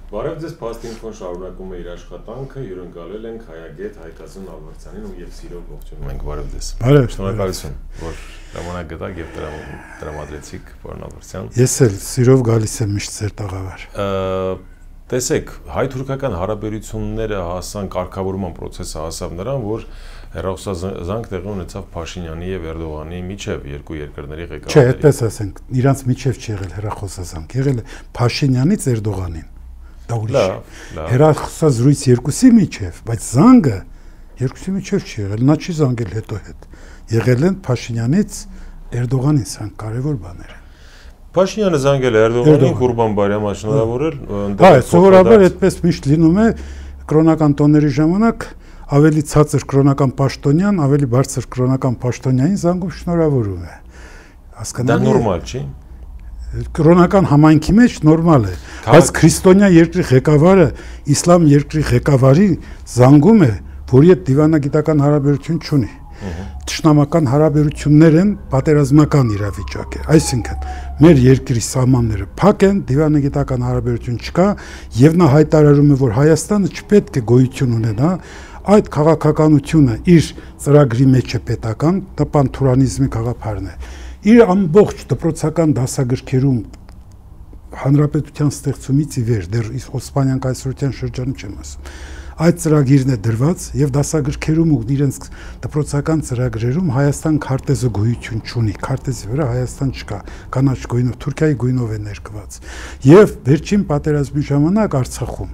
Բարև ձեզ, Փաստինֆոն շարունակում է իր աշխատանքը, հյուրընկալել ենք Հայագետ Հայկազն Ալվարդյանին ու եւ սիրով ողջունում ենք, բարև ձեզ։ Շնորհակալություն, որ ժամանակ գտաք եւ տրամադրեցիք, պարոն Ալվարդյան։ Ես էլ սիրով գալիս եմ միշտ ձեր տաղավար։ Տեսեք, հայ-թուրքական հարաբերությունները հասան կարգավորման process-ը հասավ նրան, որ հեռախոսազանգ տեղի ունեցավ Փաշինյանի եւ Էրդողանի միջև երկու երկրների ղեկավարների։ Չէ, այդպես ասենք, իրանց միջև չի եղել հեռախոսազանգ, եղել է Փաշինյանից Էրդողանին։ Դա ուրիշ է։ Հեռախոսազրույց երկուսի միջև, բայց զանգը երկուսի միջև չի եղել, նա չի զանգել հետո հետ։ Եղել են Փաշինյանից Էրդողանին, սրանք կարևոր բաներ են։ Փաշինյանը զանգել է Էրդողանին, Ղուրբան-Բայրամը շնորհավորել, հա, սովորաբար այդպես միշտ լինում է կրոնական տոների ժամանակ ավելի ցածր կրոնական պաշտոնյան, ավելի բարձր կրոնական պաշտոնյային զանգում շնորհավորում է։ Հասկանալի է։ Դա նորմալ չի։ Կրոնական համայնքի մեջ նորմալ է, բայց քրիստոնյա երկրի ղեկավարը իսլամ երկրի ղեկավարի զանգում է, որի հետ դիվանագիտական հարաբերություն չունի։ Թշնամական հարաբերություններ են, պատերազմական իրավիճակ է, այսինքն մեր երկրի սահմանները փակ են, դիվանագիտական հարաբերություն չկա եւ նա հայտարարում է, որ Հայաստանը չպետք է գոյություն ունենա, այդ քաղաքականությունը իր ծրագրի մեջ է պետական, դա պանթուրանիզմի գաղափարն է։ Իր ամբողջ դպրոցական դասագրքերում հանրապետության ստեղծումից ի վեր, դեռ Օսմանյան կայսրության շրջանը չեմ ասում, այդ ծրագիրն է դրված եւ դասագրքերում ու իրենց դպրոցական ծրագրերում Հայաստան քարտեզը գոյություն չունի, քարտեզի վրա Հայաստան չկա, կանաչ գույնով, Թուրքիայի գույնով է ներկված։ Եվ վերջին պատերազմի ժամանակ Արցախում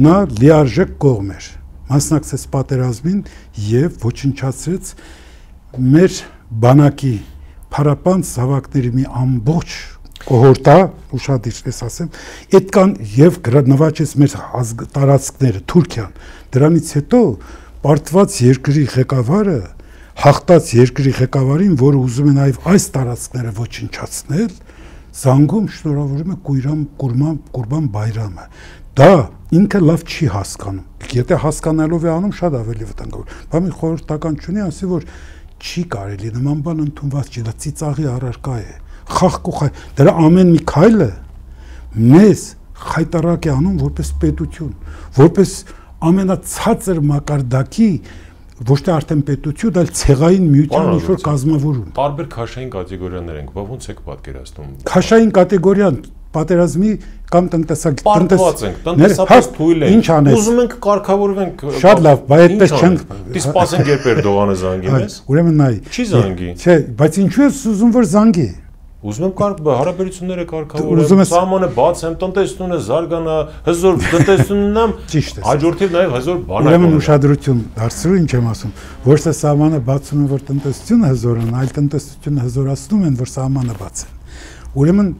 նա լիարժեք կողմ էր, մասնակցեց պատերազմին եւ ոչնչացրեց մեր բանակի փառապանց զավակների մի ամբողջ կոհորտա, ուշադիր ես ասեմ, այդ կան եւ նվաճեց մեր տարածքները, Թուրքիան։ Դրանից հետո պարտված երկրի ղեկավարը հաղթած երկրի ղեկավարին, որը ուզում է նաեւ այս տարածքները ոչնչացնել, զանգում շնորհավորում է Ղուրբան-Բայրամը։ Դա ինքը լավ չի հասկանում։ Եթե հասկանալով է անում, շատ ավելի վտանգավոր։ Բա մի խորհրդական չունի, ասի որ չի կարելի նման բան ընդունված չի, դա ծիծաղի առարկա է։ Խախկուխայ, դրա ամեն մի քայլը մեզ խայտարակ է անում որպես պետություն, որպես ամենացածր մակարդակի ոչ թե արդեն պետություն, այլ ցեղային միության ինչ-որ կազմավորում։ Տարբեր քաշային կատեգորիաներ ենք, բա ոնց եք պատկերացնում։ Քաշային կատեգորիան պատերազմի կամ տնտեսապես թույլ ենք։ Ինչ անես։ Ուզում ենք կարգավորվենք։ Շատ լավ, բայց այդպես չենք։ Դե սպասենք երբ Էրդողանը զանգի մեզ։ Ուրեմն նայ։ Չի զանգի։ Չէ, բայց ինչու ես ուզում որ զանգի։ Ուզում եմ հարաբերությունները կարգավորեմ, սահմանը բացեմ, տնտեսությունը զարգանա, հզոր տնտեսությունն եմ, հաջորդիվ նաև հզոր բանակ։ Ուրեմն ուշադրություն դարձրու, ինչ եմ ասում, ոչ թե սահմանը բացում են, որ տնտեսությունը հզորանա, այլ տնտեսությունը հզորացնում են, որ սահմանը բացեն։ Ուրեմն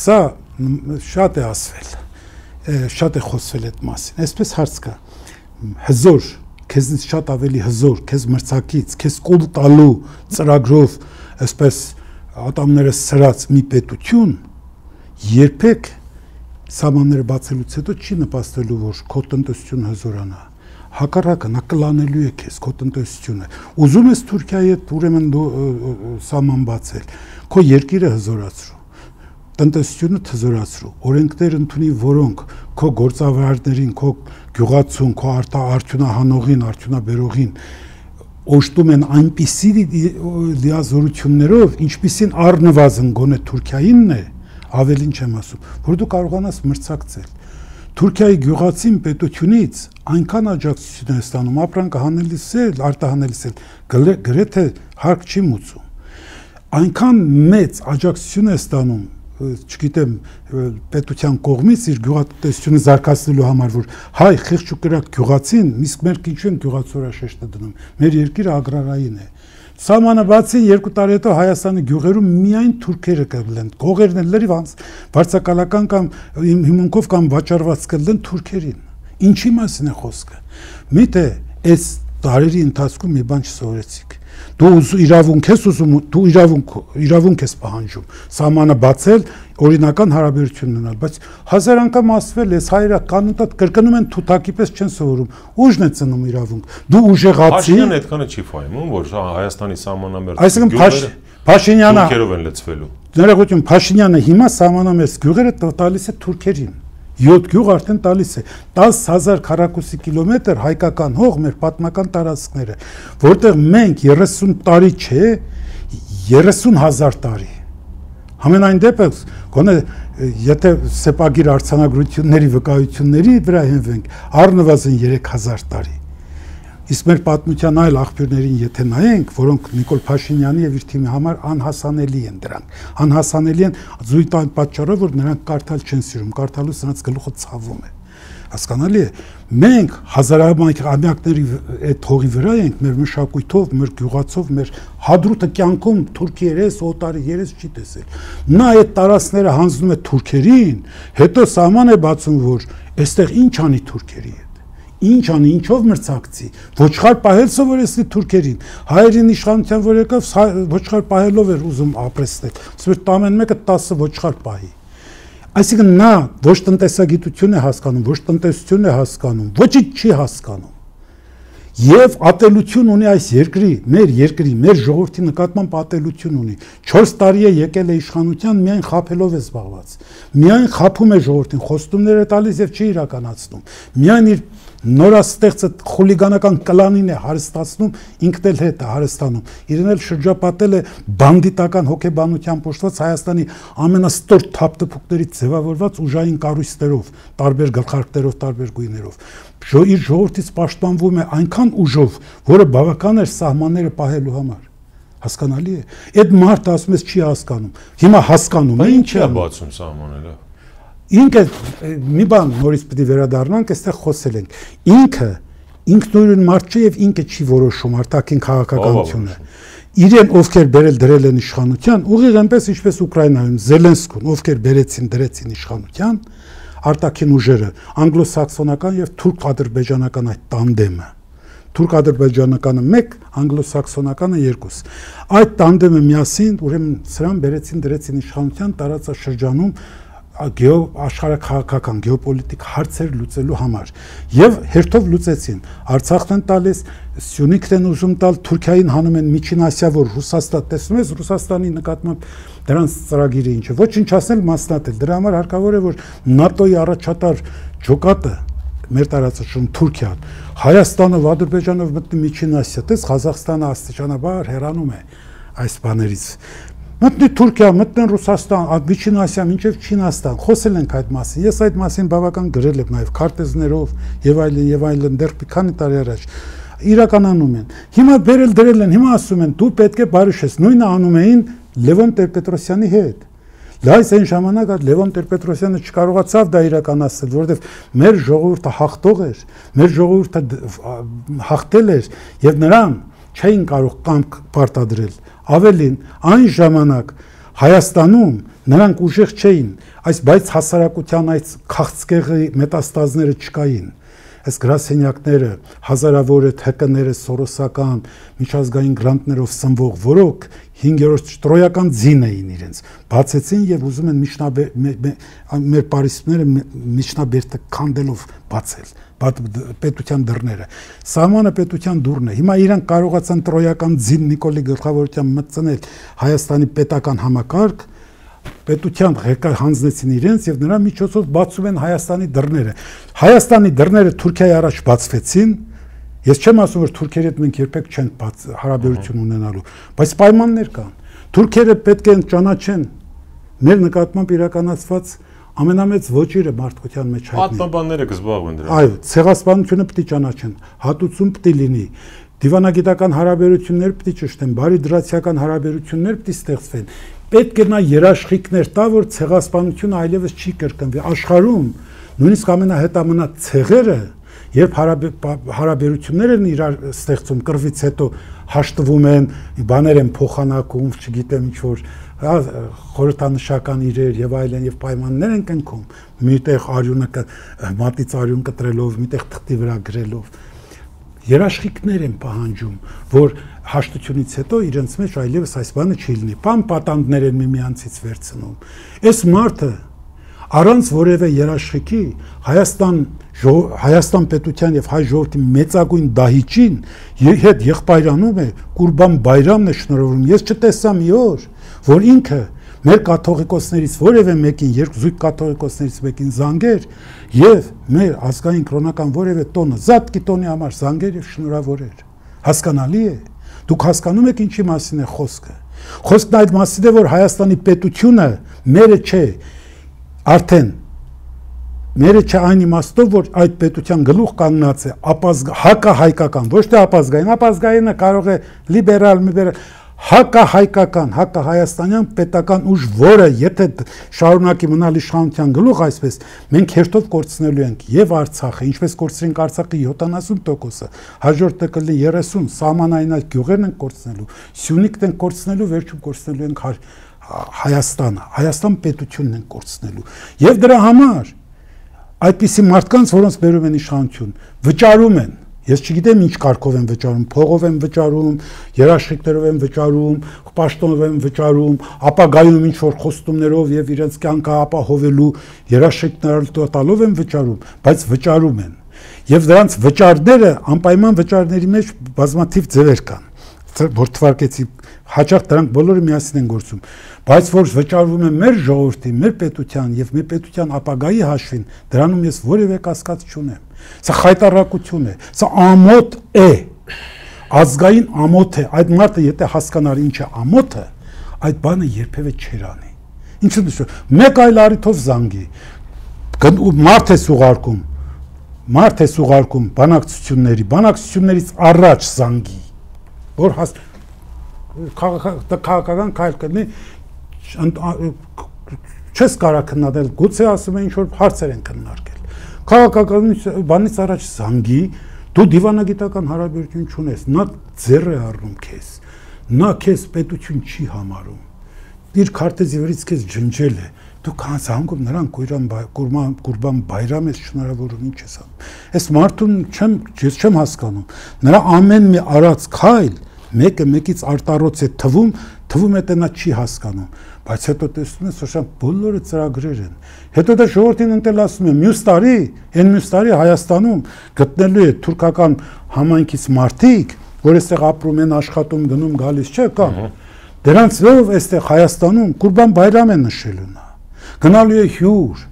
սա շատ է ասվել, շատ է խոսվել այդ մասին, այսպես հարց կա, հզոր, քեզնից շատ ավելի հզոր, քեզ մրցակից, քեզ կուլ տալու ծրագրով, այսպես ատամները սրած մի պետություն երբեք սահմանները բացելուց հետո չի նպաստելու, որ քո տնտեսությունը հզորանա։ Հակառակը նա կլանելու է քեզ քո տնտեսությունը։ Ուզում ես Թուրքիայի հետ ուրեմն սահման բացել, քո երկիրը հզորացրու, տնտեսությունը հզորացրու, օրենքներ ընդունի, որոնք քո գործավարներին, քո գյուղացուն, քո արդյունահանողին, արդյունաբերողին օժտում են այնպիսի լիազորություններով, ինչպիսին առնվազն գոնե Թուրքիայինն է, ավելին չեմ ասում, որ դու կարողանաս մրցակցել։ Թուրքիայի գյուղացին պետությունից այնքան աջակցություն է ստանում, ապրանքը հանելիս է, արտահանելիս է, գրեթե հարկ չի մուծում։ Այնքան մեծ աջակցություն է ստանում, չգիտեմ, պետության կողմից իր գյուղատնտեսությունը զարգացնելու համար, որ հայ խիղճ ու կրակ գյուղացին, իսկ մեր ինչու են գյուղացորաշեշտը դնում, մեր երկիրը ագրարային է։ Սահմանը բացի 2 տարի հետո Հայաստանի գյուղերում միայն թուրքերը կլեն, գողերն են լրիվ վարձակալական կամ հիմունքով կամ վաճառված կլեն թուրքերին։ Ինչի մասին է խոսքը։ Միթե այս տարերի ընթացքում մի բան չսովորեցիք։ Դու իրավունք ես ուզում, դու իրավունք ես պահանջում, սահմանը բացել, օրինական հարաբերություն ունենալ, բայց հազար անգամ ասվել ես հայերը կանոնտատ կրկնում են թութակի պես չեն սովորում, ուժն է ծնում իրավունք, դու ուժեղացի։ Փաշինյանը այդքանը չի ֆայմում, որ Հայաստանի սահմանամերձ այսինքն Փաշինյանը թուրքերով են լցվելու։ Ներողություն, Փաշինյանը հիմա սահմանամերձ գյուղերը տալիս է թուրքերին։ 7 գյուղ արդեն տալիս է 10,000 քառակուսի կիլոմետր հայկական հող մեր պատմական տարածքները, որտեղ մենք 30 տարի չէ, 30,000 տարի։ Համենայն դեպս, գոնե եթե սեպագիր արձանագրությունների վկայությունների վրա հենվենք, առնվազն 3,000 տարի։ Իսկ մեր պատմության այլ աղբյուրներին եթե նայենք, որոնք Նիկոլ Փաշինյանի եւ իր թիմի համար անհասանելի են դրանք։ Անհասանելի են զույգ այն պատճառով, որ նրանք կարդալ չեն սիրում, կարդալու նրանց գլուխը ցավում է։ Հասկանալի է։ Մենք հազարամյակների այդ հողի վրա ենք, մեր մշակույթով, մեր գյուղացով, մեր հադրութը կյանքում թուրքի երես, օտարի երես չի տեսել։ Նա այդ տարածքները հանձնում է թուրքերին, հետո սահման է բացում, որ այստեղ ինչ անի թուրքերի հետ։ Ինչ անի, ինչով մրցակցի, ոչխար պահել սովորեցնի թուրքերին, հայերին իշխանության որ եկավ, ոչխար պահելով էր ուզում ապրեցնել, ասում էր ամեն մեկը 10 ոչխար պահի։ Այսինքն նա ոչ տնտեսագիտություն է հասկանում, ոչ տնտեսություն է հասկանում, ոչինչ չի հասկանում։ Եվ ատելություն ունի այս երկրի, մեր ժողովրդի նկատմամբ ատելություն ունի։ 4 տարի է եկել է իշխանության, միայն խաբելով է զբաղված։ Միայն խաբում է ժողովրդին, խոստումներ է տալիս եւ չի իրականացնում։ Միայն իր նորաստեղծը խուլիգանական կլանին է հարստացնում, ինքն էլ հետ է հարստանում։ Իրեն էլ շրջապատել է բանդիտական հոգեբանությամբ ուժված Հայաստանի ամենաստոր թափտփուկներից ձևավորված ուժային կառույցներով, տարբեր գլխարկներով, տարբեր գույներով։ Իր ժողովրդից պաշտպանվում է այնքան ուժով, որը բավական էր սահմանները պահելու համար։ Հասկանալի է։ Այդ մարդը ասում ես չի հասկանում։ Հիմա հասկանում է, ինչ է բացում սահմանները։ Ինքը մի բան նորից պետք է վերադառնանք, այստեղ խոսել ենք։ Ինքը ինքնուրույն մարդ չէ եւ ինքը չի որոշում արտաքին քաղաքականությունը։ Իրեն ովքեր բերել դրել են իշխանության, ուղիղ այնպես ինչպես Ուկրաինայում Զելենսկուն, ովքեր դրեցին իշխանության, արտաքին ուժերը, անգլոսաքսոնական եւ թուրք-ադրբեջանական այդ տանդեմը։ Թուրք-ադրբեջանականը 1, անգլոսաքսոնականը 2։ Այդ տանդեմը միասին ուրեմն սրան դրեցին իշխանության տարածաշրջանում աշխարհաքաղաքական գեոպոլիտիկ հարցեր լուծելու համար եւ հերթով լուծեցին Արցախն են տալիս Սյունիքն են ուզում տալ Թուրքիային հանում են Միջին Ասիա որ Ռուսաստան տեսնում ես Ռուսաստանի նկատմամբ դրանց ծրագիրը ինչ է ոչինչ ասել մասնատել դրա համար հարկավոր է որ ՆԱՏՕ-ի առաջատար ջոկատը մեր տարածաշրջանում Թուրքիան Հայաստանը Ադրբեջանով մտնի Միջին Ասիա տես Ղազախստանը աստիճանաբար հեռանում է այս բաներից Մտնի Թուրքիա, մտնեն Ռուսաստան, Միջին Ասիա, մինչև Չինաստան, խոսել ենք այդ մասին։ Ես այդ մասին բավական գրել եմ նաև քարտեզներով եւ այլն դեռ մի քանի տարի առաջ իրականանում են։ Հիմա բերել դրել են, հիմա ասում են դու պետք է բարիշես։ Նույնը անում էին Լևոն Տեր-Պետրոսյանի հետ։ Լայս այն ժամանակ Լևոն Տեր-Պետրոսյանը չկարողացավ դա իրականացնել, որովհետև մեր ժողովուրդը հաղթող էր, մեր ժողովուրդը հաղթել էր եւ նրան չէին կարող կամք պարտադրել։ Ավելին, այն ժամանակ Հայաստանում նրանք ուժեղ չէին, բայց հասարակության այդ քաղցկեղի մետաստազները չկային։ Այս գրասենյակները, հազարավոր ՀԿ-ները, սորոսական, միջազգային գրանտներով սնվող, որոնք 5-րդ տրոյական ձին էին իրենց, բացեցին եւ ուզում են մեր պարիսպները միջնաբերդը քանդելով բացել պետության դռները։ Սահմանը պետության դուռն է։ Հիմա իրանք կարողացան տրոյական ձին Նիկոլի գլխավորությամբ մտցնել Հայաստանի պետական համակարգ, պետության ղեկավար հանձնեցին իրենց եւ նրա միջոցով բացում են Հայաստանի դռները։ Հայաստանի դռները Թուրքիայի առաջ բացվեցին։ Ես չեմ ասում որ թուրքերի հետ մենք երբեք չենք հարաբերություն ունենալու, բայց պայմաններ կան։ Թուրքերը պետք է ճանաչեն մեր նկատմամբ իրականացված ամենամեծ ոճիրը մարդկության մեջ հայտնի։ Պատմաբանները կզբաղվեն դրանով։ Այո, ցեղասպանությունը պետք է ճանաչեն, հատուցում պետք է լինի։ Դիվանագիտական հարաբերություններ պետք է ճշտեն, բարիդրացիական հարաբերություններ պետք է ստեղծվեն։ Պետք է նա երաշխիքներ տա, որ ցեղասպանությունը այլևս չի կրկնվի։ Աշխարհում նույնիսկ ամենահետամնաց ցեղերը Երբ հարաբերություններ են իրար ստեղծում կռվից հետո հաշտվում են, բաներ են փոխանակում, չգիտեմ ինչ որ խորհրդանշական իրեր եւ այլն եւ պայմաններ են կնքում, միտեղ արյունը մատից արյուն կտրելով, միտեղ թղթի վրա գրելով երաշխիքներ են պահանջում, որ հաշտությունից հետո իրենց մեջ այլևս այս բանը չի լինի, պատանդներ են միմյանցից վերցնում։ Այս մարդը առանց որևէ երաշխիքի Հայաստան պետության եւ հայ ժողովրդի մեծագույն դահիճին հետ եղբայրանում է Կուրբան Բայրամն է շնորհվում։ Ես չտեսա մի օր, որ ինքը մեր կաթողիկոսներից որևէ մեկին, զույգ կաթողիկոսներից մեկին զանգեր եւ մեր ազգային կրոնական որևէ տոնը զատկի տոնի համար զանգեր եւ շնորհավորեր։ Հասկանալի է։ Դուք հասկանում եք ինչի մասին է խոսքը։ Խոսքն այդ մասին է, որ Հայաստանի պետությունը մերը չէ, արդեն մերը չէ այն իմաստով, որ այդ պետության գլուխ կանգնած է հակահայկական, ոչ թե ապազգայինը կարող է լիբերալ, հակահայկական, հակահայաստանյան պետական ուժ, որը եթե շարունակի մնալ իշխանության գլուխ այսպես, մենք հերթով կորցնելու ենք եւ Արցախը, ինչպես կորցրինք Արցախի 70%-ը, հաջորդը կլինի 30, սահմանային այդ գյուղերն են կորցնելու, Սյունիքն են կորցնելու, վերջում կորցնելու ենք Հայաստանը, Հայաստան պետությունն են կորցնելու։ Եվ դրա համար այդպիսի մարդկանց, որոնց բերում են իշխանություն, վճարում են։ Ես չգիտեմ ինչ կարգով են վճարում, փողով են վճարում, երաշխիքներով են վճարում, պաշտոնով են վճարում, ապագայում ինչ որ խոստումներով եւ իրենց կյանքը ապահովելու երաշխիքներ տալով են վճարում, բայց վճարում են։ Եվ դրանց վճարները անպայման վճարների մեջ բազմաթիվ ձևեր կան, որ թվարկեցի, հաճախ դրանք բոլորը միասին են գործում, բայց որ վճարվում է մեր ժողովրդի, մեր պետության եւ մեր պետության ապագայի հաշվին, դրանում ես որևէ կասկած չունեմ։ Սա խայտառակություն է, սա ամոթ է, ազգային ամոթ է, այդ մարդը եթե հասկանար ինչ է ամոթը, այդ բանը երբևէ չեր անի։ Ինչու՞ նշում, մեկ այլ առիթով զանգի, մարդ է ուղարկում բանակցություններից առաջ զանգի, որ քաղաքական քայլ կլինի, չես կարող քննադատել, գուցե ասում են ինչ որ հարցեր են քննարկել։ Քաղաքական բանից առաջ զանգի, դու դիվանագիտական հարաբերություն չունես, նա ձեռ է առնում քեզ, նա քեզ պետություն չի համարում, իր քարտեզի վրից քեզ ջնջել է, դու զանգում նրան Կուրբան Բայրամ ես շնորհավորում, ինչ ես անում։ Այս մարդուն ես չեմ հասկանում, նրա ամեն մի արած քայլ մեկը մեկից արտառոց է թվում է թե նա չի հասկանում, բայց հետո տեսնում ես, որ բոլորը ծրագրեր են։ Հետո դա ժողովրդին ընտել ասում է, մյուս տարի Հայաստանում գտնելու է թուրքական համայնքից մարդիկ, որ այստեղ ապրում են, աշխատում, գնում, գալիս չէ, կամ դրանցով այստեղ Հայաստանում Կուրբան Բայրամ է նշելու նա։ Գնալու է հյուր,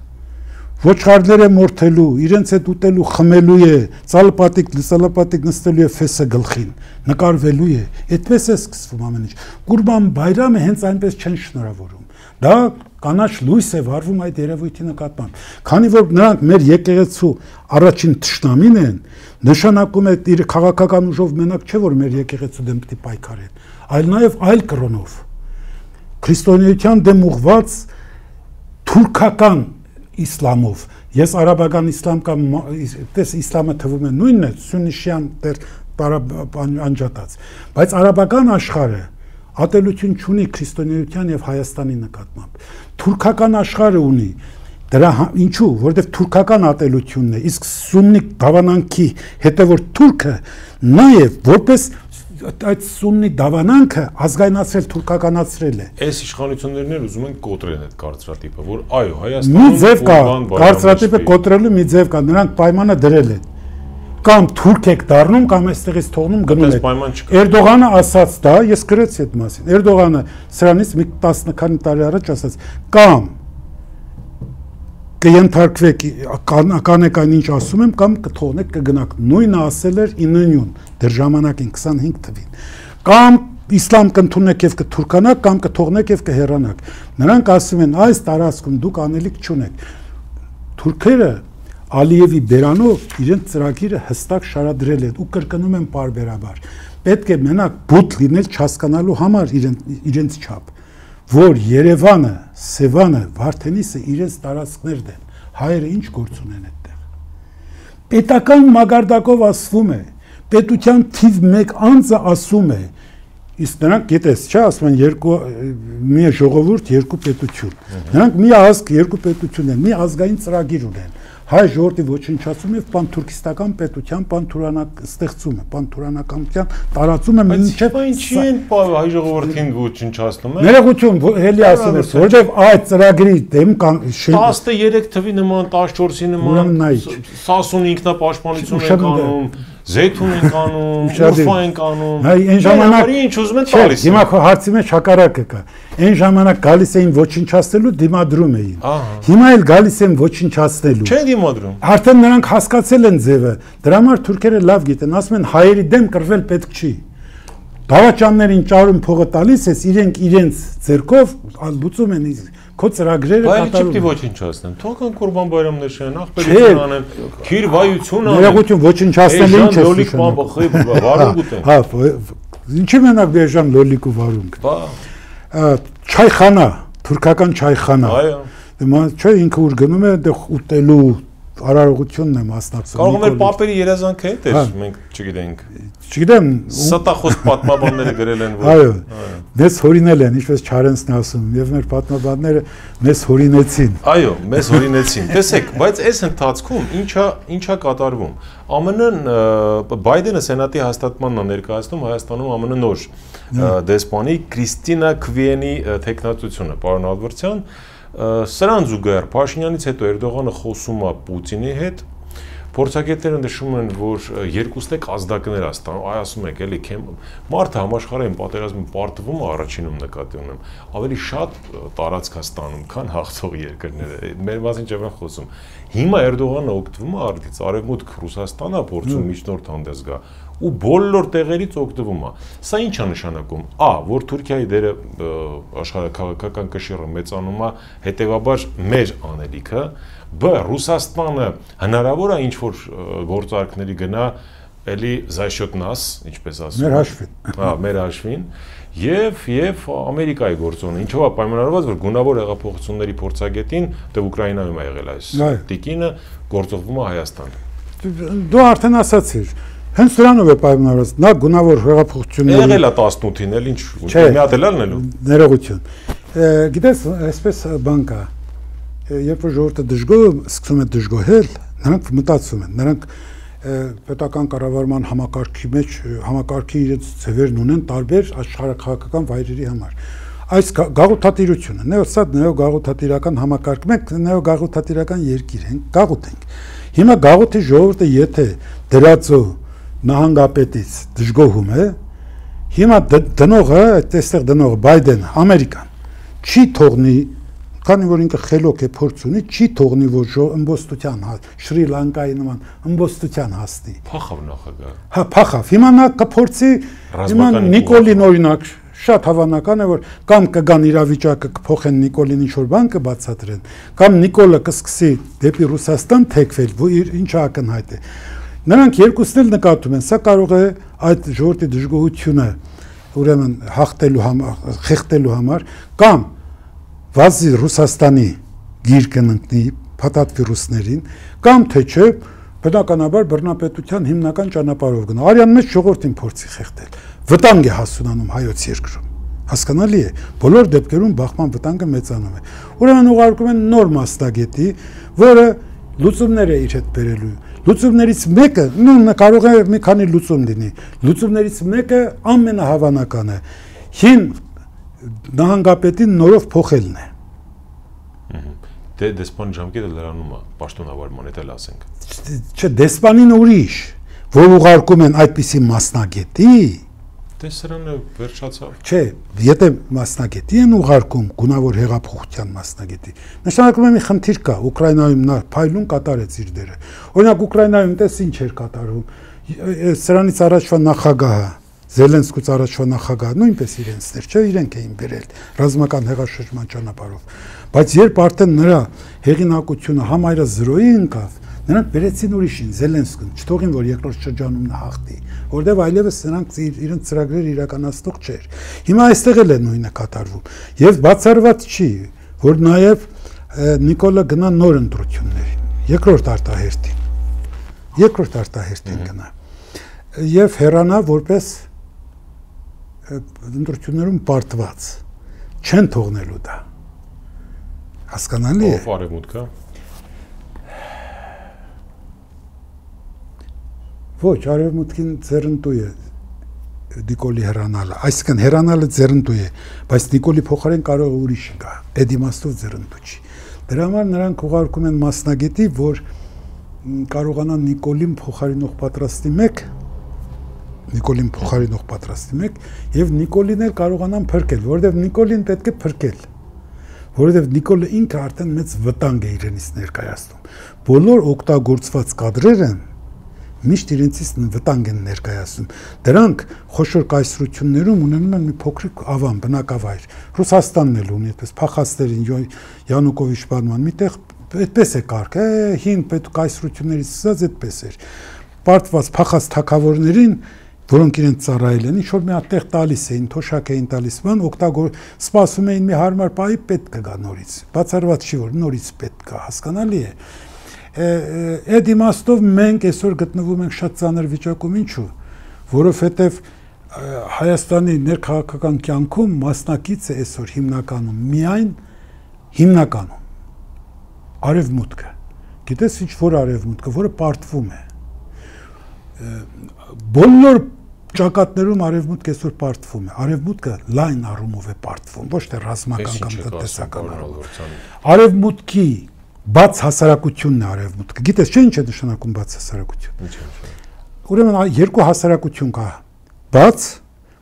ոչխարներ է մորթելու, իրենց հետ ուտելու, խմելու է, ծալապատիկ նստելու է ֆեսը գլխին, նկարվելու է, այդպես է սկսվում ամեն ինչ։ Կուրբան Բայրամը հենց այնպես չեն շնորհավորում։ Դա կանաչ լույս է վառվում այդ երևույթի նկատմամբ։ Քանի որ նրանք մեր եկեղեցու առաջին թշնամին են, նշանակում է իր քաղաքական ուժով մենակ չէ, որ մեր եկեղեցու դեմ պիտի պայքարեն, այլ նաև այլ կրոնով։ Քրիստոնեության դեմ ուղղված թուրքական իսլամով։ Ես արաբական իսլամ կամ իսլամը թվում է նույնն է, սուննիշյան անջատած, բայց արաբական աշխարհը ատելություն չունի քրիստոնեության եւ Հայաստանի նկատմամբ։ Թուրքական աշխարհը ունի, դրա ինչու, որովհետեւ թուրքական ատելությունն է, իսկ սուննի դավանանքի հետևորդ թուրքը նաեւ որպես այդ սուննի դավանանքը ազգայնացրել, թուրքականացրել է։ Այս իշխանություններն էլ ուզում են կոտրեն այդ կարծրատիպը, որ այո, Հայաստանում մի ձև կա, կարծրատիպը կոտրելու մի ձև կա, նրանք պայմանը դրել են։ Կամ թուրք եք դառնում, կամ այստեղից թողնում գնում եք։ Էրդողանը ասաց դա, ես գրեցի այդ մասին։ Էրդողանը սրանից մի 10 քանի տարի առաջ ասաց, կամ կենթարկվեք, կանեք այն ինչ ասում եմ, կամ կթողնեք կգնաք։ Նույնը ասել էր 9-ին, դեռ ժամանակին 25 թվին։ Կամ իսլամ կընդունեք եւ կթուրքանաք, կամ կթողնեք եւ կհեռանաք։ Նրանք ասում են, այս տարածքում դուք անելիք չունեք։ Թուրքերը Ալիևի բերանով իրենց ծրագիրը հստակ շարադրել են ու կրկնում են պարբերաբար։ Պետք է մենակ բութ լինել չհասկանալու համար իրենց չափ, որ Երևանը, Սևանը, Վարդենիսը իրենց տարածքներն են, հայերը ինչ գործ ունեն այդտեղ։ Պետական մագարտակով ասվում է, պետության թիվ 1 անձը ասում է, իսկ նրանք գիտես, չէ, ասում են մի ժողովուրդ, երկու պետություն։ Նրանք մի ազգ, երկու պետություն են, մի ազգային ծրագիր ունեն։ Հայ ժողովրդի ոչնչացում եւ պանթուրքիստական պետության ստեղծումը, պանթուրանականության տարածումը մինչեւ ինչի են հայ ժողովրդին ոչնչացնում են։ Ներողություն, հելի ասում ես, որովհետեւ այդ ծրագրի դեմ 13 թվի նման, 14-ի նման Սասուն ինքնապաշտպանություն են անում, Զեյթուն են անում, Ուրֆա են անում։ Այն ժամանակ ինչ ուզում են տալիս։ Հիմա քո հարցի մեջ հակառակը կա։ Այն ժամանակ գալիս էին ոչնչացնելու, դիմադրում էին։ Հիմա էլ գալիս են ոչնչացնելու։ Չեն դիմադրում։ Արդեն նրանք հասկացել են ձևը։ Դրա համար թուրքերը լավ գիտեն, ասում են հայերի դեմ կռվել պետք չի։ Դավաճաններին ճարում փողը տալիս ես, իրենք իրենց ձեռքով լուծում են քո ծրագրերը կատարում։ Բայց չպետք է ոչնչացնեն։ Թողան Կուրբան Բայրամներ շեն, ախպերություն անեն, քիր վայություն անեն։ Ներողություն ոչնչացնել ինչ է։ Լոլիկ վարունգ ուտեն։ Հա, ինչի մենակ բեժան լոլիկ ու վարունգ։ Չայխանա, թուրքական չայխանա։ Այո։ Դե չէ ինքը ուր գնում է դե ուտելու արարողությունն է մասնակցում։ Կարող է պապերի երազանքը հետ էր, մենք չգիտենք։ Չգիտեմ, ստախոս պատմաբանները գրել են, որ այո, մեզ հորինել են, ինչպես Չարենցն ասում, եւ մեր պատմաբանները մեզ հորինեցին։ Այո, մեզ հորինեցին։ Տեսեք, բայց այս ընթացքում ինչա կատարվում։ ԱՄՆ-ն Բայդենը սենատի հաստատմանն է ներկայացնում Հայաստանում ԱՄՆ նոր դեսպանի Կրիստինա Քվիենի տեխնատությունը, պարոն Ալբերտյան, սրան զուգահեռ Փաշինյանից հետո Էրդողանը խոսում է Պուտինի հետ։ Փորձագետները նշում են, որ երկուսն է ազդակներ աստանում, ասում եք, էլի մարդը համաշխարհային պատերազմին պարտվում է առաջինում նկատի ունեմ, ավելի շատ տարածք է ստանում, քան հաղթող երկրները։ Մեր մասին չեմ խոսում։ Հիմա Էրդողանը օգտվում է արդից, Արևմուտք Ռուսաստանը փորձում միջնորդ հանդես գա ու բոլոր տեղերից օգտվում է։ Սա ինչ է նշանակում։ Որ Թուրքիայի դերը աշխարհաքաղաքական կշիռը մեծանում է, հետեւաբար մեր անելիքը, Ռուսաստանը հնարավոր է ինչ որ գործարքների գնա էլի զայշոտ նաս, ինչպես ասում։ Մեր հաշվին։ Մեր հաշվին եւ Ամերիկայի գործոնը, ինչով է պայմանավորված, որ գունավոր հեղափոխությունների փորձագետին դե Ուկրաինայում է եղել այս տիկինը, գործողվում է Հայաստան։ Դու արդեն ասացիր, հենց դրանով է պայմանավորված, նա գունավոր հեղափոխությունների եղել է 18-ին, էլ ինչ, մի հատ էլ ալնելու։ Ներողություն։ Գիտես, այսպես բան կա, երբ որ ժողովուրդը դժգոհ սկսում է դժգոհել, նրանք մտածում են, նրանք պետական կառավարման համակարգի իրենց ձևերն ունեն տարբեր աշխարհաքաղաքական վայրերի համար։ Այս գաղութատիրությունը, սա նեոգաղութատիրական համակարգ, մենք նեոգաղութատիրական երկիր ենք, գաղութ ենք։ Հիմա գաղութի ժողովուրդը եթե դրածո նահանգապետից դժգոհում է, հիմա դնողը, այդտեղ դնողը Բայդենը, Ամերիկան չի թողնի, քանի որ ինքը խելոք է փորձ ունի, չի թողնի որ ըմբոստության Շրի Լանկայի նման ըմբոստության հասնի։ Փախավ նախագահը։ Հա, փախավ։ Հիմա նա կփորձի, հիմա Նիկոլին օրինակ շատ հավանական է որ կամ կգան իրավիճակը կփոխեն Նիկոլին ինչ որ բան կբացատրեն, կամ Նիկոլը կսկսի դեպի Ռուսաստան թեքվել, որ ինչ ակնհայտ է։ Նրանք երկուսն էլ նկատում են, սա կարող է այդ ժողովրդի դժգոհությունը ուրեմն հաղթելու համար, խեղդելու համար, կամ վազի Ռուսաստանի գիրկն ընկնի փաթաթվի ռուսներին, կամ թե չէ բնականաբար բռնապետության հիմնական ճանապարհով գնա։ Արյան մեջ ժողովրդին փորձի խեղդել։ Վտանգ է հասունանում հայոց երկրում։ Հասկանալի է, բոլոր դեպքերում բախման վտանգը մեծանում է։ Ուրեմն ուղարկում են նոր մասնագետի, որը լուծումներ է իր հետ բերելու։ Լուծումներից մեկը, կարող է մի քանի լուծում լինի։ Լուծումներից մեկը ամենահավանականը հին նահանգապետին նորով փոխելն է։ Դե դեսպան ժամկետը լրանում է, պաշտոնավարման հետ էլ ասենք։ Չէ, դեսպանին ուրիշ, որ ուղարկում են այդպիսի մասնագետի։ Դե սրանը վերջացավ։ Չէ, եթե մասնագետի են ուղարկում, գունավոր հեղափոխության մասնագետի, նշանակում է մի խնդիր կա, Ուկրաինայում նա փայլուն կատարեց իր դերը։ Օրինակ Ուկրաինայում տես ինչ էր կատարում։ Սրանից առաջվա նախագահը Զելենսկուց առաջվա նախագահը նույնպես իրենցներ, չէ, իրենք էին բերել ռազմական հեղաշրջման ճանապարհով։ Բայց երբ արդեն նրա հեղինակությունը համայրը 0-ի ընկավ, նրանք բերեցին ուրիշին, Զելենսկուն, չթողին որ երկրորդ շրջանում նա հաղթի, որտեղ այլևս նրանք իրենց ծրագրերը իրականացնող չէր։ Հիմա այստեղ էլ է նույնը կատարվում։ Եվ բացառված չի, որ նաև Նիկոլը գնա նոր ընտրություններին, երկրորդ արտահերթին գնա։ Եվ հեռանա որպես ընտրություններում պարտված չեն թողնելու դա։ Հասկանալի է։ Ով արևմուտքը։ Ոչ, արևմուտքին ձեռնտու է Նիկոլի հեռանալը, այսինքն հեռանալը ձեռնտու է, բայց Նիկոլի փոխարեն կարող է ուրիշ գա, այդ իմաստով ձեռնտու չի։ Դրա համար նրանք ուղարկում են մասնագետի, որ կարողանա Նիկոլին փոխարինող պատրաստի մեկ Նիկոլին փոխարինող պատրաստի մեկ եւ Նիկոլին էլ կարողանան փրկել, որովհետեւ Նիկոլին պետք է փրկել։ Որովհետեւ Նիկոլը ինքը արդեն մեծ վտանգ է իրենից ներկայացնում։ Բոլոր օգտագործված կադրերը միշտ իրենցից վտանգ են ներկայացնում։ Դրանք խոշոր կայսրություններում ունենում են մի փոքրիկ ավան, բնակավայր։ Ռուսաստանն էլ ունի այդպես փախաստերին Յանուկովիչ բանման միտեղ այդպես է կարգ, հին պետք կայսրություններից սկսած այդպես էր։ Պարտված փախած թագավորներին, որոնք իրենց ծառայել են, ինչ-որ մի հատ տեղ տալիս էին, թոշակ էին տալիս, բան սպասում էին մի հարմար պահի պետք կգա նորից։ Բացառված չի, որ նորից պետք կա, հասկանալի է։ Այդ իմաստով մենք այսօր գտնվում ենք շատ ծանր վիճակում, ինչու՞, որովհետև Հայաստանի ներքաղաքական կյանքում մասնակից է այսօր հիմնականում արևմուտքը։ Գիտես ինչ որ արևմուտքը, որը պարտվում է։ Բոլոր ճակատներում արևմուտքը այսօր պարտվում է։ Արևմուտքը լայն առումով է պարտվում, ոչ թե ռազմական կամ տնտեսական առումով։ Արևմուտքի բաց հասարակությունն է արևմուտքը։ Գիտես չէ ինչ է նշանակում բաց հասարակություն։ Ուրեմն երկու հասարակություն կա։ Բաց,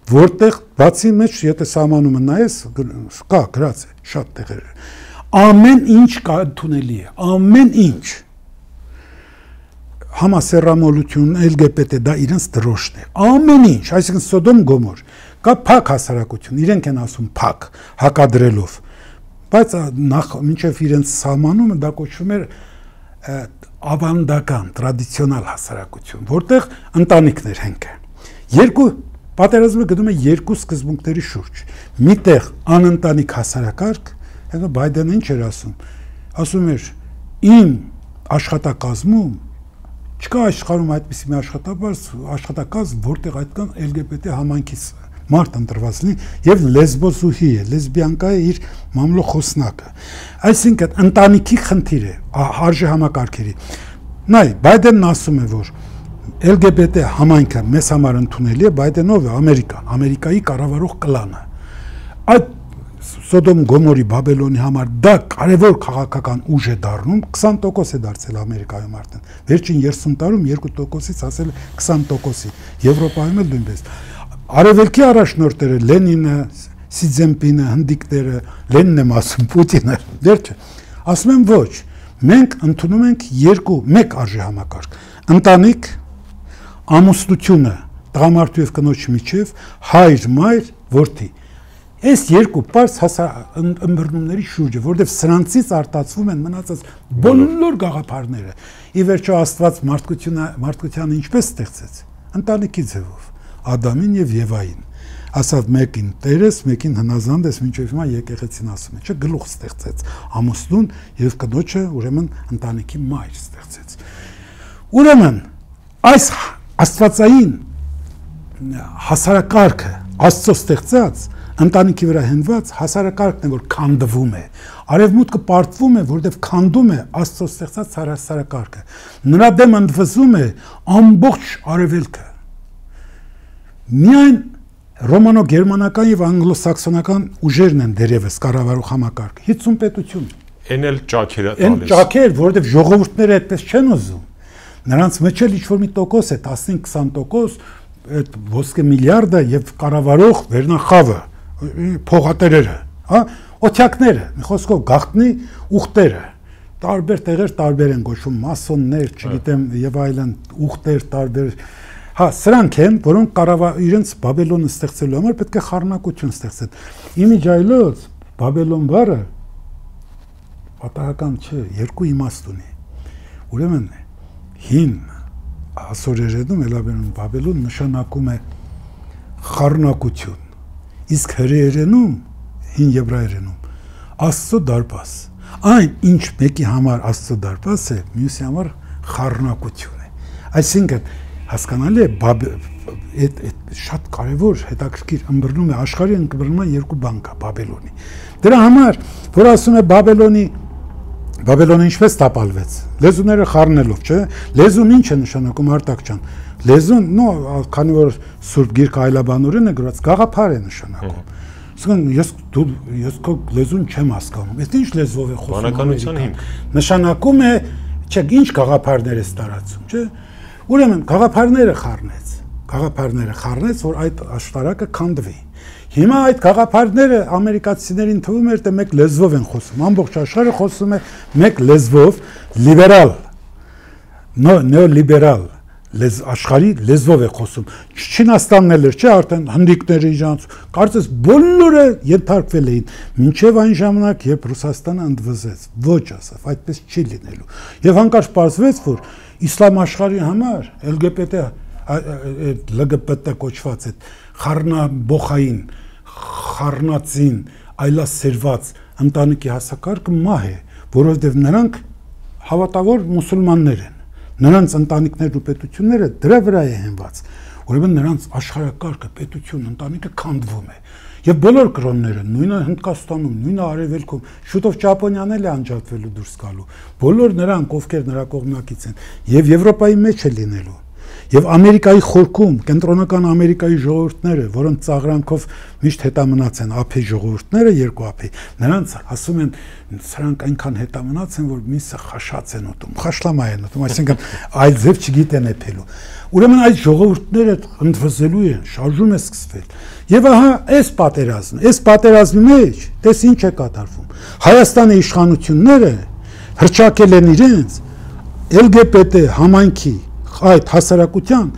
որտեղ բացի մեջ եթե սահմանումը նայես, կա գրած է շատ տեղեր։ Ամեն ինչ կա ընդունելի է, ամեն ինչ։ Համասեռամոլություն, LGBT դա իրենց դրոշն է։ Ամեն ինչ, այսինքն Սոդոմ Գոմոր, կա փակ հասարակություն, իրենք են ասում փակ, հակադրելով։ Բայց մինչև իրենց սահմանումը դա կոչվում էր ավանդական, տրադիցիոնալ հասարակություն, որտեղ ընտանիքներ հենք է։ Երկու պատերազմը գնում է երկու սկզբունքների շուրջ։ Միտեղ անընտանիք հասարակարգ, հետո Բայդենը ինչ էր ասում։ Ասում էր իմ աշխատակազմում չկա աշխարհում այդպիսի մի աշխատակազմ, որտեղ այդքան LGBT համայնքից մարդ ընտրված լինի եւ լեսբոսուհի է, լեսբիանկա է իր մամլո խոսնակը։ Այսինքն ընտանիքի խնդիր է, արժե համակարգերի։ Նայ, Բայդենն ասում է, որ LGBT համայնքը մեզ համար ընդունելի է, Բայդենով է Ամերիկայի կառավարող կլանը։ Այդ Սոդոմ Գոմորի Բաբելոնի համար դա կարևոր քաղաքական ուժ է դառնում, 20% է դարձել Ամերիկայում արդեն։ Վերջին 30 տարում 2%-ից հասել 20%-ի, Եվրոպայում էլ նույնպես։ Արևելքի առաջնորդները Լենինը, Սի Ցզինպինը, հնդիկները, Լենինն եմ ասում, Պուտինը, վերջը, ասում են ոչ, մենք ընդունում ենք մեկ արժե համակարգ։ Ընտանիք, ամուսնությունը, տղամարդու եւ կնոջ միջև, հայր, մայր, որդի։ Այս երկու պարզ ըմբռնումների շուրջը, որովհետև սրանցից արտացվում են մնացած բոլոր գաղափարները։ Ի վերջո Աստված մարդկությանը ինչպես ստեղծեց։ Ընտանիքի ձևով, Ադամին եւ Եվային։ Ասավ մեկին տերես, մեկին հնազանդ ես, մինչև հիմա եկեղեցին ասում է, չէ, գլուխ ստեղծեց ամուսնուն եւ կնոջը, ուրեմն ընտանիքի մայր ստեղծեց։ Ուրեմն այս աստվածային հասարակարգը Աստծո ստեղծած ընտանիքի վրա հենված հասարակարգն է, որ քանդվում է։ Արևմուտքը պարտվում է, որովհետև քանդում է Աստծո ստեղծած հասարակարգը։ Նրա դեմ ընդվզում է ամբողջ արևելքը։ Միայն ռոմանո-գերմանական եւ անգլոսաքսոնական ուժերն են դերևս կառավարող համակարգը։ 50 պետություն։ Էն էլ ճաքեր է տալիս։ Էն ճաքեր, որովհետև ժողովուրդները այդպես չեն ուզում։ Նրանց մեջ էլ ինչ-որ մի տոկոս է, 15-20%, այդ ոսկե միլիարդը եւ կառավարող վերնախավը, փողատերերը, հա, օթյակները, մի խոսքով գաղտնի ուխտերը, տարբեր տեղեր տարբեր են գոչվում, մասոններ, չգիտեմ, եւ այլն, ուխտեր տարբեր, հա, սրանք են, որոնք իրենց Բաբելոնը ստեղծելու համար պետք է խառնակություն ստեղծեն։ Իմիջայլոց Բաբելոն բառը պատահական չէ, երկու իմաստ ունի։ Ուրեմն հին ասորերենում Էլաբերում Բաբելոն նշանակում է խառնակություն, իսկ հրեերենում, հին եբրայերենում Աստծո դարպաս։ Այն ինչ մեկի համար Աստծո դարպաս է, մյուսի համար խառնակություն է։ Այսինքն հասկանալի է, այդ շատ կարևոր հետաքրքիր ըմբռնում է աշխարհի ըմբռնման երկու բան կա Բաբելոնի։ Դրա համար, որ ասում է Բաբելոնը ինչպես տապալվեց, լեզուները խառնելով, չէ՞։ Լեզուն ինչ է նշանակում Արտակ ջան։ Լեզուն, քանի որ Սուրբ Գիրքը այլաբանորեն է գրված, գաղափար է նշանակում։ Իսկն ես քո լեզուն չեմ հասկանում։ Էս ինչ լեզվով է խոսում։ Բանականության հիմք։ Նշանակում է, չէ, ինչ գաղափարներ է տարածում, չէ՞։ Ուրեմն գաղափարները խառնեց։ գաղափարները խառնեց, որ այդ աշտարակը քանդվի։ Հիմա այդ գաղափարները ամերիկացիներին թվում էր, թե մեկ լեզվով են խոսում, ամբողջ աշխարհը խոսում է մեկ լեզվով, լիբերալ, նեոլիբերալ աշխարհի լեզվով է խոսում։ Չինաստանն էլ էր, չէ, արդեն հնդիկները իրանց, կարծես բոլորը ենթարկվել էին, մինչև այն ժամանակ, երբ Ռուսաստանը ընդվզեց, ոչ ասավ, այդպես չի լինելու։ Եվ հանկարծ պարզվեց, որ իսլամ աշխարհի համար LGBT կոչված այդ խառնաբոխային, խառնածին, այլասերված ընտանիքի հասակարգը մահ է, որովհետև նրանք հավատավոր մուսուլմաններ են։ Նրանց ընտանիքներն ու պետությունները դրա վրա է հենված, ուրեմն նրանց աշխարհակարգը, պետություն, ընտանիքը քանդվում է։ Եվ բոլոր կրոնները, նույնը Հնդկաստանում, նույնը Արևելքում, շուտով Ճապոնիան էլ է անջատվելու դուրս գալու։ Բոլոր նրանք, ովքեր նրա կողմնակից են, եւ Եվրոպայի մեջ է լինելու։ Եվ Ամերիկայի խորքում, կենտրոնական Ամերիկայի ժողովուրդները, որոնց ծաղրանքով միշտ հետամնաց են ափի ժողովուրդները, երկու ափի, նրանց ասում են, սրանք այնքան հետամնաց են, որ միսը խաշած են ուտում, խաշլամա են ուտում, այսինքն այլ ձև չգիտեն էփելու։ Ուրեմն այդ ժողովուրդները ընդվզելու են, շարժում է սկսվել։ Եվ ահա այս պատերազմի մեջ, տես ինչ է կատարվում։ Հայաստանի իշխանությունները հրճակել են իրենց LGBT համայնքի այդ հասարակության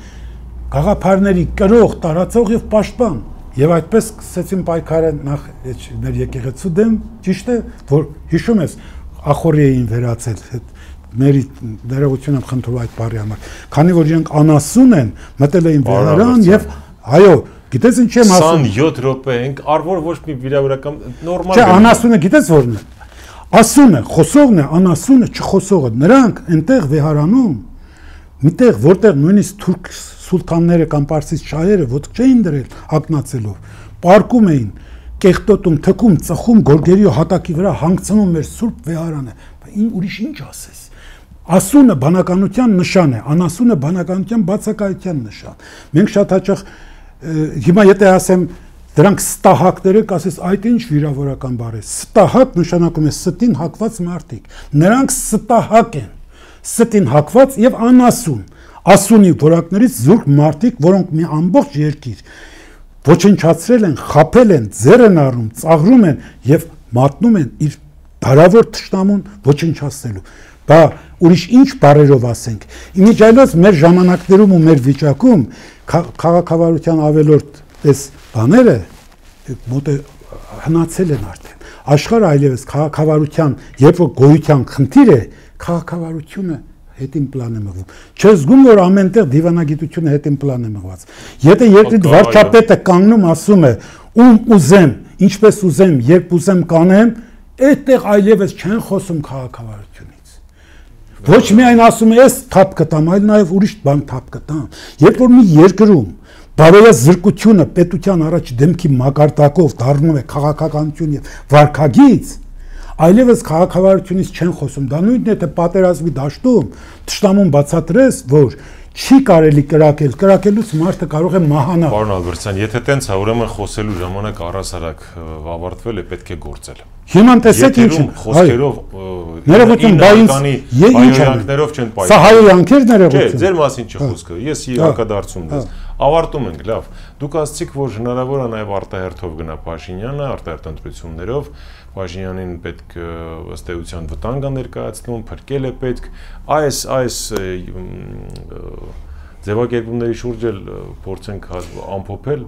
գաղափարների կրող, տարածող եւ պաշտպան եւ այդպես սկսեցին պայքարը նախ մեր եկեղեցու դեմ, ճիշտ է, որ հիշում ես ախորի էին վերացել մերի ներողություն եմ խնդրում այդ բառի համար, քանի որ իրենք անասուն են, մտել էին վերարան եւ այո, գիտես ինչ եմ ասում 27 րոպե ենք, արվոր ոչ մի վիրավորական նորմալ չէ, անասունը գիտես որն է, ասունը, խոսողն է, անասունը, չխոսողը, նրանք այնտեղ վեհարանում միտեղ, որտեղ նույնիսկ թուրք սուլթանները կամ պարսից շահերը ոտք չէին դրել ակնացելով, պարկում էին, կեղտոտում, թքում, ծխում, գորգերի հատակի վրա հանգցնում մեր սուրբ վեհարանը, ուրիշ ինչ ասես։ Ասունը բանականության նշան է, անասունը բանականության բացակայության նշան։ Մենք շատ հաճախ հիմա եթե ասեմ դրանք ստահակները, կասես այդ ինչ վիրավորական բառ է։ Ստահակ նշանակում է ստին հակված մարդիկ։ Նրանք ստահակ են։ Ստին հակված եւ անասուն, ասունի որակներից զուրկ մարդիկ, որոնք մի ամբողջ երկիր ոչնչացրել են, խաբել են, ձեռ են առնում, ծաղրում են եւ մատնում են իր բարավոր թշնամուն ոչնչացնելու։ Բա ուրիշ ինչ բառերով ասենք։ Իմիջիայլոց մեր ժամանակներում ու մեր վիճակում քաղաքավարության ավելորդ պես բաները մոտ հնացել են արդեն։ Աշխարհը այլևս քաղաքավարության, երբ որ գոյության խնդիր է, քաղաքավարությունը հետին պլան է մղվում։ Չես զգում, որ ամենտեղ դիվանագիտությունը հետին պլան է մղված։ Եթե երկրի վարչապետը կանգնում ասում է, ում ուզեմ, ինչպես ուզեմ, երբ ուզեմ կանեմ, այդտեղ այլևս չեն խոսում քաղաքավարությունից։ Ոչ միայն ասում է, ես թափ կտամ, այլ նաև ուրիշ բան թափ կտամ։ Երբ որ մի երկրում բարոյազրկությունը պետության առաջ դեմքի մակարդակով դառնում է քաղաքականություն եւ վարքագիծ, այլևս քաղաքավարությունից չեն խոսում։ Դա նույնն է, թե պատերազմի դաշտում թշնամուն բացատրես, որ չի կարելի կրակելուց մարդը կարող է մահանալ։ Պարոն Ալբերտյան, եթե տենց է, ուրեմն խոսելու ժամանակ առհասարակ ավարտվել է, պետք է գործել։ Հիմա տեսեք ինչ խոսքերով ներողություն, բայց հայոյանքներով չեն պայքարում։ Սա հայոյանքեր ներողություն։ Չէ, ձեր մասին չի խոսքը։ Ես հակադարձում եմ։ Avարտում ենք, լավ։ Դուք ասացիք, որ հնարավոր է նաև արտահերթով գնա Փաշինյանը, արտահերթ ընտրություններով, Փաշինյանին պետք ըստ էության վտանգ է ներկայացնում, փրկել է պետք, այս ձևակերպումների շուրջ էլ փորձենք ամփոփել,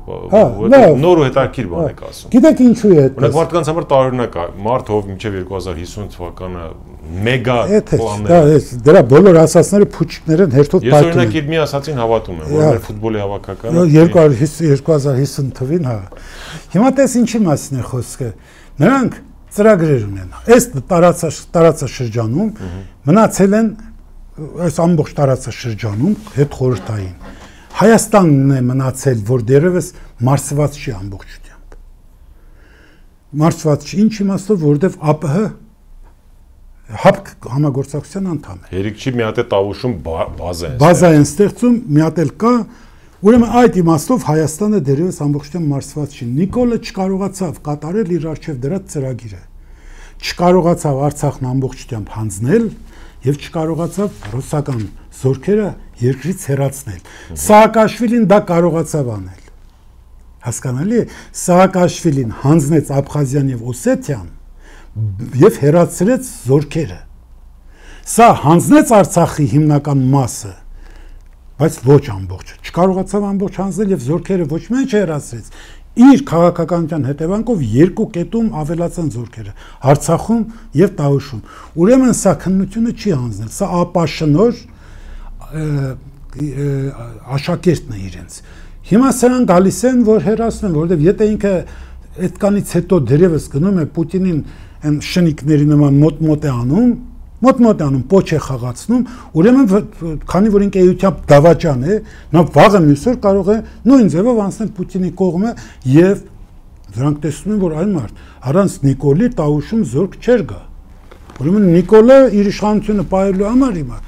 նոր ու հետաքրքիր բան եք ասում։ Գիտեք ինչու է դա։ Օրինակ մարդկանց համար տարօրինակ է, մարդ ով մինչև 2050 թվականը մեգա պլաններ։ Դրա բոլոր ասածները փուչիկներ են հերթով պայթում։ Ես օրինակ իր մի ասածին հավատում եմ, որ մեր ֆուտբոլի հավաքականը 2050 թվին, հա։ Հիմա տես ինչի մասին է խոսքը։ Նրանք ծրագրեր ունեն։ Այս տարածաշրջանում մնացել են այս ամբողջ տարածաշրջանում հետ խորհրդային Հայաստանն է մնացել, որ դեռևս մարսված չի ամբողջությամբ։ Մարսված չի, ինչ իմաստով, որովհետև ԱՊՀ ՀԱՊԿ համագործակցության անդամ է։ Երիկ չի մի հատ է տավուշում բազա են ստեղծում, մի հատ էլ կա, ուրեմն այդ իմաստով Հայաստանը դեռևս ամբողջությամբ մարսված չի։ Նիկոլը չկարողացավ կատարել իր արժև դրած ծրագիրը։ Չկարողացավ Արցախն ամբողջությամբ հանձնել եւ չկարողացավ ռուսական զորքերը երկրից հեռացնել։ Սաակաշվիլին դա կարողացավ անել։ Հասկանալի է, Սաակաշվիլին հանձնեց Աբխազիան եւ Օսեթիան եւ հեռացրեց զորքերը։ Սա հանձնեց Արցախի հիմնական մասը, բայց ոչ ամբողջը։ Չկարողացավ ամբողջ հանձնել եւ զորքերը ոչ միայն չհեռացրեց, իր քաղաքականության հետևանքով երկու կետում ավելացան զորքերը Արցախում եւ Տավուշում։ Ուրեմն սա քննությունը չի հանձնել, սա ապաշնոր աշակերտն է իրենց։ Հիմա սրանք գալիս են, որ հեռացնեն, որովհետեւ եթե ինքը այդքանից հետո դերևս գնում է Պուտինին այն շնիկների նման մոտ-մոտ է անում, պոչ է խաղացնում, ուրեմն քանի որ ինքը էությամբ դավաճան է, նա վաղը մյուսօր կարող է նույն ձևով անցնել Պուտինի կողմը եւ դրանք տեսնում են, որ այն մարդ առանց Նիկոլի Տավուշում զորք չէր գա։ Ուրեմն Նիկոլը իր իշխանությունը պահելու համար հիմա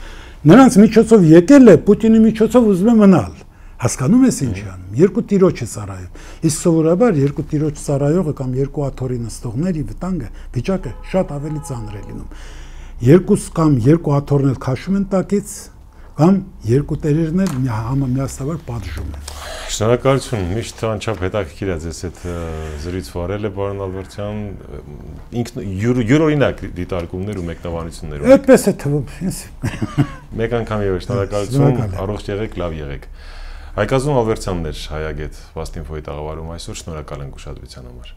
նրանց միջոցով եկել է, Պուտինի միջոցով ուզում է մնալ։ Հասկանում ես ինչ է անում։ Երկու տիրոջ է ծառայում։ Իսկ սովորաբար երկու տիրոջ ծառայողը կամ երկու աթոռի նստողների վտանգը վիճակը շատ ավելի ծանր է լինում։ Երկուս կամ երկու աթոռներ քաշում են տակից կամ երկու տերերն էլ միասնաբար պատժում են։ Շնորհակալություն, միշտ անչափ հետաքրքիր է ձեզ այդ զրույց վարելը, պարոն Ալբերտյան, ինքն յուրօրինակ դիտարկումներ ու մեկնաբանություններ։ Այդպես է թվում, ինձ։ Մեկ անգամ եւս շնորհակալություն, առողջ եղեք, լավ եղեք։ Հայկազուն Ալբերտյանն էր Հայագետ Վաստ Ինֆոյի տաղավարում այսօր, շնորհակալ ենք ուշադրության համար։